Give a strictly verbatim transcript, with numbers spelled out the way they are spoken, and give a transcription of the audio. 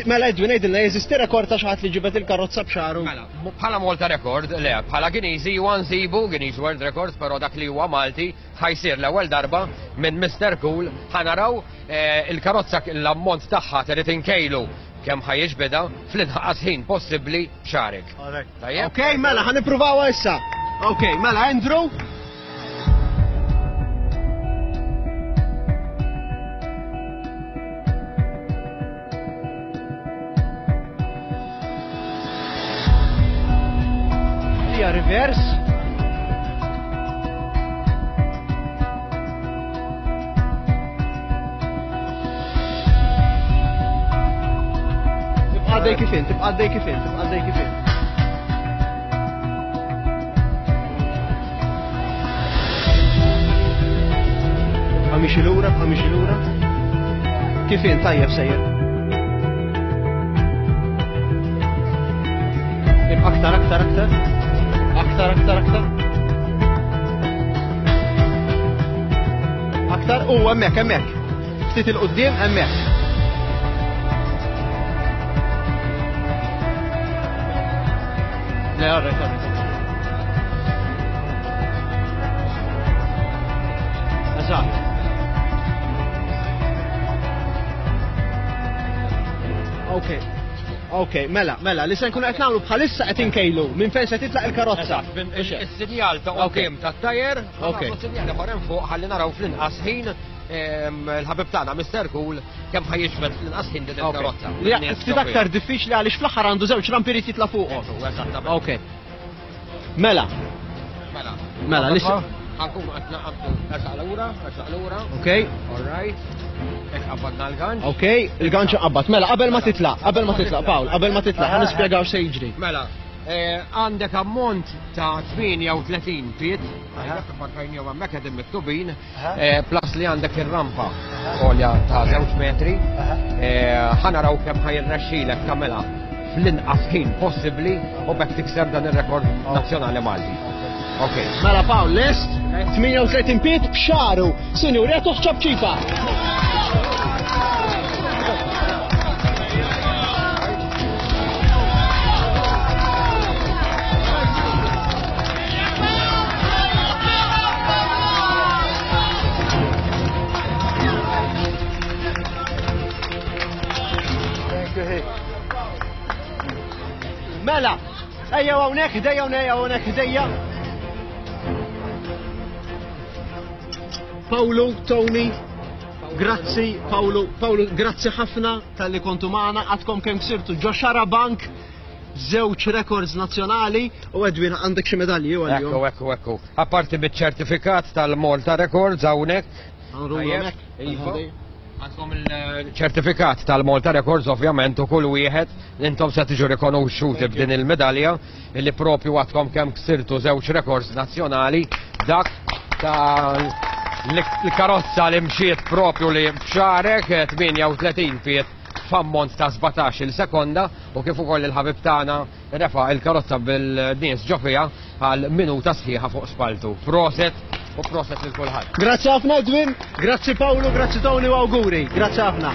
Mela Edwin, għidilna, jeżisti rekord ta' xi ħadd li ġibed il-karozza b'xagħru? Mela, bħala Malta Record, le, bħala Guinness huwa nsibu Guinness World Records, però dak li huwa Malti ħa jsir l-ewwel darba minn Mister Cool. Ħa naraw eh, il-karozza, l-ammont tagħha trid inkejlu kemm ħa jiġbidha fl-inqas ħin possibbli b'xagħrek. Tajjeb? Ok, mela, ħa nippruvawha issa. Ok, mela, Andrew. Hija reverse. Tibqa' għaddej kif int, tibqa' għaddej kif int, tibqa' għaddej kif int. Tibqa' miexi lura, tibqa' miexi lura. Kif int, tajjeb sejjer. Ibqa' aktar, aktar, aktar. Aktar, aktar, aktar. Aktar, u hemmhekk, hemmhekk. Ftit 'il quddiem, hemmhekk. Le, all right, all right. Eżatt. Ok. Ok, mela, mela, li se nkunu qed nagħmlu bħalissa qed inkejlu minn fejn se titlaq il-karozza. Is-sinjal ta' quddiem tat-tajer, Ok. sinjal ieħor hemm fuq ħalli naraw fl-inqas ħin em, il-ħabib tagħna Mister Cool kemm ħa jiġbed fl-inqas ħin din il-karozza. Li ftit aktar diffiċli għaliex fl-aħħar għandu żewġ rampi jrid jitla' fuqhom. Eżattament. Ok. Mela, Mela. Mela, li se- Ħa nkunu qed naqabdu ersaq lura, ersaq lura. ok, All right. Hekk qabadna l-ganċ. ok, il-ganċ qabad. Mela, qabel ma titlaq, qabel ma titlaq, Paul, qabel ma titlaq, ħa nispjegaw se jiġri. Mela, eh, għandek ammont ta' tmienja u tletin pied, għandek parkajni u hemmhekk qegħdin miktubin, eh, plus li għandek ir-rampa għolja ta' żewġ metri, eh, ħa naraw kemm ħa jirnexxilek tagħmilha fl-inqas ħin possibbli u b'hekk tikser dan ir-rekord nazzjonali Malti. Ok. Mela Paul, lest? tmienja u tletin pied b'xagħru. Sinjuri, għatuh ċapċipa. Mela, ejja hawnhekk, ħdejja hawnhekk, hawnhekk ħdejja. Paolo, Tony, grazzi, Paolo, Paolo, grazzi ħafna talli kontu magħna, għadkom kemm ksirtu ġo Xarabank, żewġ records nazzjonali u Edwin, għandek xi medalji u Ekku, ekku, ekku. Apparti biċ-ċertifikat tal-Malta Records hawnhekk. Tajjeb, iva. Għandkom il-ċertifikat tal-Malta Records, ovvjament, u kull wieħed intom se tiġu rikonoxxuti b'din il-medalja li propju għadkom kemm ksirtu żewġ records nazzjonali, dak ta' l-karozza li mxiet propju li b'xagħrek tmienja u tletin pied f'ammont ta' sbatax-il sekonda u kif ukoll il-ħabib tagħna refa' il-karozza bil-nies ġo fiha għal minuta sħiħa fuq spaltu. Proset u proset lil kulħadd. Grazzi ħafna Edwin, grazzi Paolo, grazzi Tony u auguri. Grazzi ħafna.